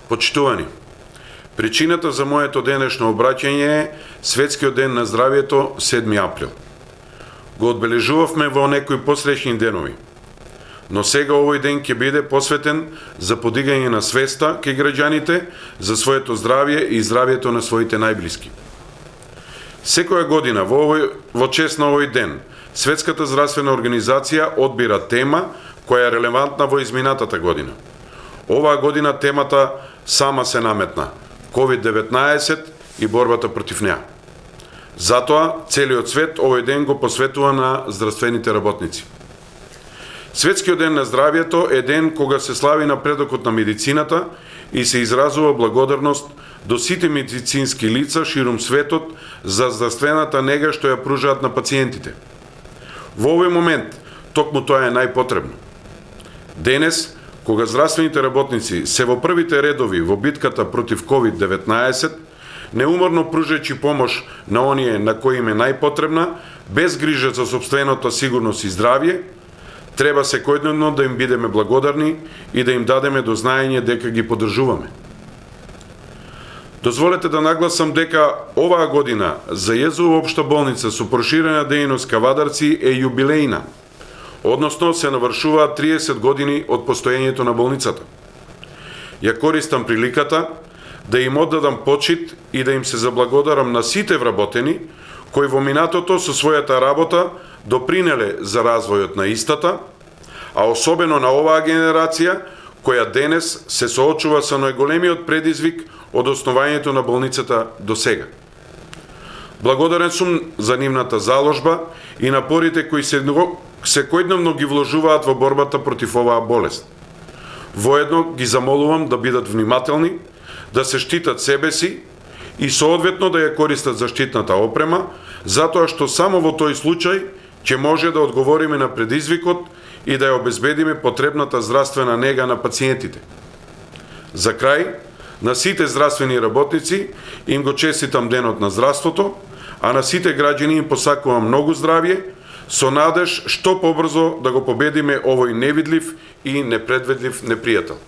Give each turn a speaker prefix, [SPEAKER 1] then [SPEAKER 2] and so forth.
[SPEAKER 1] Почитувани, причината за моето денешно обраќање е Светскиот ден на здравието 7 април. Го одбележувавме во некои посречни денови, но сега овој ден ќе биде посветен за подигање на свеста кај граѓаните за своето здравје и здравието на своите најблиски. Секоја година во чест на овој ден Светската здравствена организација одбира тема која е релевантна во изминатата година. Оваа година темата сама се наметна – COVID-19 и борбата против неа. Затоа целиот свет овој ден го посветува на здравствените работници. Светскиот ден на здравието е ден кога се слави напредокот на медицината и се изразува благодарност до сите медицински лица ширум светот за здравствената нега што ја пружаат на пациентите. Во овој момент токму тоа е најпотребно. Денес, кога здравствените работници се во првите редови во битката против COVID-19, неуморно пружајќи помош на оние на кои им е најпотребна, без грижа за сопствената сигурност и здравје, треба секојдневно да им бидеме благодарни и да им дадеме до знаење дека ги поддржуваме. Дозволете да нагласам дека оваа година за Језова општа болница со проширена дејност Кавадарци е јубилејна, односно се навршуваат 30 години од постоењето на болницата. Ја користам приликата да им оддадам почит и да им се заблагодарам на сите вработени кои во минатото со својата работа допринеле за развојот на истата, а особено на оваа генерација која денес се соочува со најголемиот предизвик од основањето на болницата до сега. Благодарен сум за нивната заложба и напорите кои секојдневно ги вложуваат во борбата против оваа болест. Воедно ги замолувам да бидат внимателни, да се штитат себе си и соодветно да ја користат заштитната опрема, затоа што само во тој случај ќе може да одговориме на предизвикот и да ја обезбедиме потребната здравствена нега на пациентите. За крај, на сите здравствени работници им го честитам денот на здравството, а на сите граѓани им посакувам многу здравје, со надеж што побрзо да го победиме овој невидлив и непредвидлив непријател.